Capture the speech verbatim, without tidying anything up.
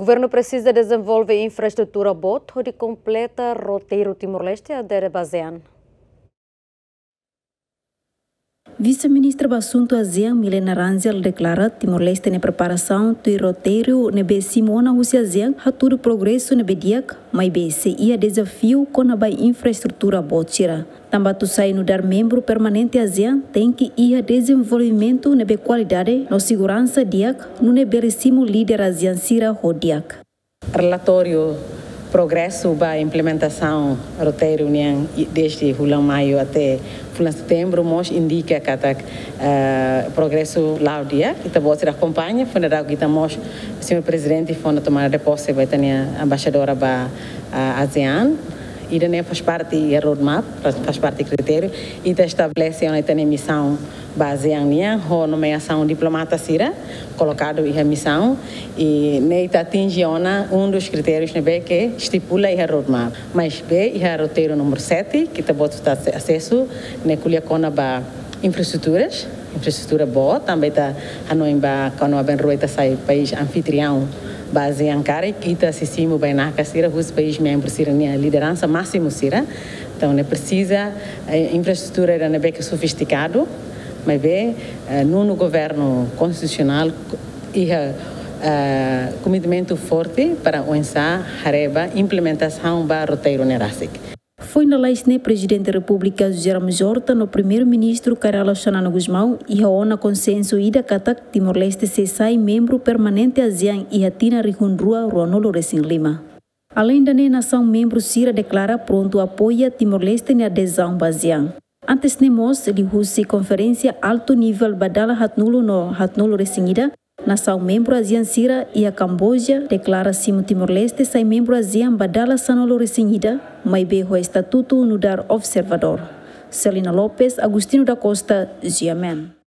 Governu presiza dezenvolve infraestrutura boot hodi kompleta roteiru Timor-Leste adere ba ASEAN. Vise-Ministra ba Asuntu ASEAN, Milena Rangel, deklara Timor-Leste nia preparasaun tuir roteiru ne'ebé simu ona husi ASEAN hatudu progresu ne'ebé di'ak, maibé sei iha dezafiu kona-ba infraestrutura boot sira. Tanba atu sai nu'udar membru permanente ASEAN, tenke iha dezenvolvimentu ne'ebé kualidade no seguransa di'ak, nune'e bele simu líder ASEAN sira ho di'ak. Relatóriu progresu ba implementasaun roteiru nian i-, desde fulan maiu até fulan setembru mós indika katak, eh, progresu la'o di'ak, ita-boot sira akompaña, foin dadauk ita mós, señór Prezidente fó ona tomada de pose ba ita-nia embaixadora ba, ah, ASEAN. Ida-ne'e faz parte iha roadmap, faz, faz parte kritériu, ita estabelese ona ita-nia misaun ba ASEAN nian, ho nomeasaun diplomata sira kolokadu iha misaun, i ne'e ita atinje ona um dos critérios ne'ebé ke estipula iha roadmap. Maibé iha roteiru númeru sete, ke ita-boot sira asesu, ne'e ko'alia kona-ba infraestruturas, infraestrutura boot, tanba ita hanoin ba kona-ba bainrua ita sai país anfitriaun ba ASEAN karik, ita sei simu bainaka sira husi país membru sira-nia lideransa másimu sira. Entaun, ne'e presiza, eh, infraestrutura ida ne'ebé ke sofistikadu, maibé, eh, nonu governu konstitusionál iha, eh, komitmentu forte para oinsá haree ba implementasaun ba roteiru ne'e rasik. Foin lalais ne'e Prezidente Repúblika José Ramos Horta no Primeiru-Ministru Kay Rala Xanana Gusmão iha ona konsensu ida katak Timor-Leste sei sai membru permanente ASEAN iha tinan rihun rua ruanulu resin lima. Aleinde ne'e, nasaun membru sira deklara prontu apoia Timor-Leste nia adezaun ba ASEAN. Antes ne'e mós, liuhusi konferénsia altu nivel ba dala haatnulu no haatnulu resin ida, nasaun membru ASEAN sira iha Kamboja deklara simu Timor-Leste sai membru ASEAN ba dala sanulu resin ida, maibé ho estatutu nu'udar observadór. Celina Lopes, Agostinho da Costa, G M N.